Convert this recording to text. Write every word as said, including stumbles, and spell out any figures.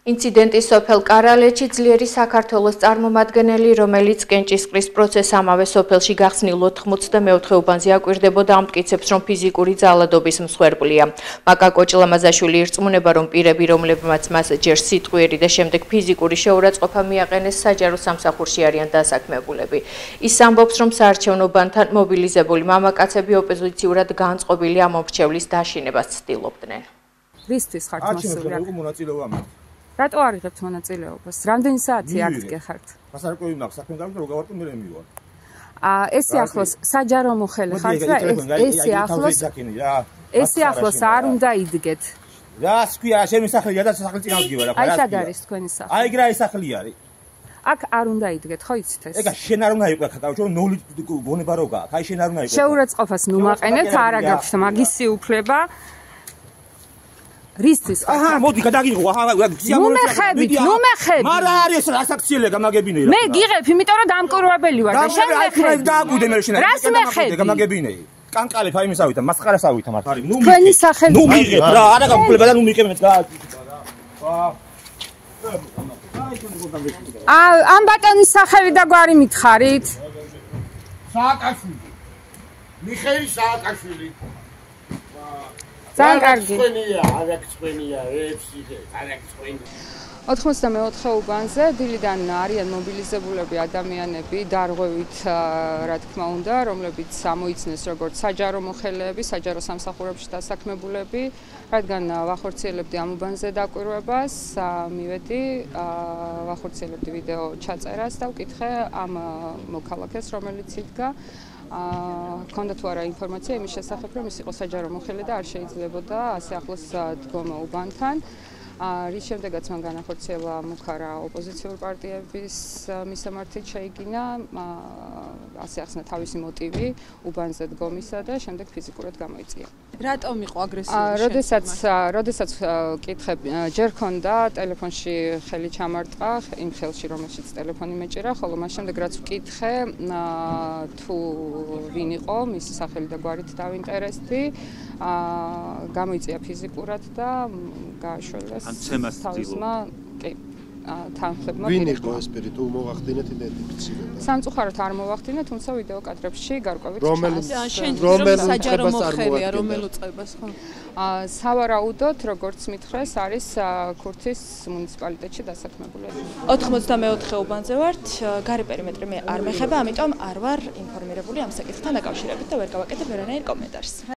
ინციდენტი სოფელ კარალეთში ძლიერი საქართველოს წარმომადგენელი, რომელიც კენჭისყრის პროცესს ამავე სოფელში გახსნილ ოთხმოცდამეოთხე უბანზე აკვირდებოდა, ამტკიცებს, რომ ფიზიკური ძალადობის მსხვერპლია. მაკა კოჭლამაზაშვილი ირწმუნება, რომ პირები, რომლებმაც მას ჯერ სიტყვიერი და შემდეგ ფიზიკური შეურაცხყოფა მიაყენეს, საჯარო სამსახურში არიან დასაქმებულები. ის ამბობს, რომ საარჩევნო ბანთან მობილიზებული მამაკაცები ოპოზიციურად განწყობილი ამ მომრჩევლის დაშინებას ცდილობდნენ. რისთვის ხართ მოსული? რატო არ იღებთ მონაწილეობას? რამდენი საათი აქ გეხართ? მასარკვევი მაქვს, საქმე დავიწყე, რო გავარტყე მე მივარ. აა ესე ახლოს საჯარო მოხელე ხართ და ესე ახლოს ესე ახლოს არ უნდა იდგეთ. რა სქვია, შენ მსახლია და სახელი წინ ავდგება რა. აი სად არის თქვენი სახლი? აი გრაი სახლი არის. აქ არ უნდა იდგეთ, ხო იცით ეს? ეგა შენ არ უნდა იყო ხა, გავჩო ნული გონება რო გაქვს. აი შენ არ უნდა იყო. შეურაცხყოფას ნუ მაყენეთ, არა გაქვთ მაგისი უფლება. რისთვის? აჰა, მოდი გადაგიღო. აჰა, ნუ მეხებით, ნუ მეხებით. მარა არის რა საქციელია გამაგებინე რა. მე გიღებ, იმიტომ რომ დამკვირვებელი ვარ და შენ მეხები. დააკვირდე მე შენ. რას მეხები? გამაგებინე. კანკალებ აი მისავითა, მასყარასავითა მართ. ნუ თქვენი სახელი. ნუ მიღებ რა, არა გამკვლება და ნუ მიყემეთ რა. აა, ამ ბატონის სახელი და გვარი მითხარით? სააკაშვილი. მიხეილ სააკაშვილი. ძალიან კარგი. ოთხმოცდამეოთხე უბანზე დილიდან არიან მობილიზებულები ადამიანები, დარღვევით, რა თქმა უნდა, რომლებიც ამოიცნეს როგორც საჯარო მოხელეები, საჯარო სამსახურებში დასაქმებულები, რადგან ვახორციელებდი ამ უბანზე დაკვირვებას, მივედი, ვახორციელებდი ვიდეო ჩაწერას და ვკითხე ამ მოქალაქეს, რომელიც იდგა. ჰქონდა თუ არა ინფორმაცია იმის შესახებ, რომ ის იყო საჯარო მოხელე და არ შეიძლებოდა ასე ახლოს დგომა უბანთან. რის შემდეგაც მან განახორციელა მუქარა ოპოზიციურ პარტიების მისამართით შეიგინა, ასე ახსნა თავისი მოტივი უბანზე დგომისა და შემდეგ ფიზიკურად გამოიწია. რატომ იყო აგრესიული? როდესაც როდესაც კითხე ჯერ ქონდა ტელეფონში ხელი ჩამარტყა, იმ ხელში რომელშიც ტელეფონი მეჭირა, ხოლო მას შემდეგ რაც ვკითხე თუ ვინ იყო, მისი სახელი და გვარით დავინტერესდი, გამოიწია ფიზიკურად და გააშველეს თავისმა კი თანხებმა. ვინ იყო ეს პირი? თუ მოვახდინეთ იდენტიფიცირება? სამწუხაროდ არ მოვახდინეთ, თუმცა ვიდეო კადრებში გარკვევით რომელ საჯარო მოხელეა, რომელ უწყებას ხო? სავარაუდოდ, როგორც მითხრეს, არის ქურთის მუნიციპალიტეტში დასაქმებულები. ოთხმოცდამეოთხე უბანზე ვართ, გარე პერიმეტრი მე არ მეხება, ამიტომ არ ვარ ინფორმირებული ამ საკითხთან დაკავშირებით და ვერ გავაკეთებ ვერანაირ კომენტარს.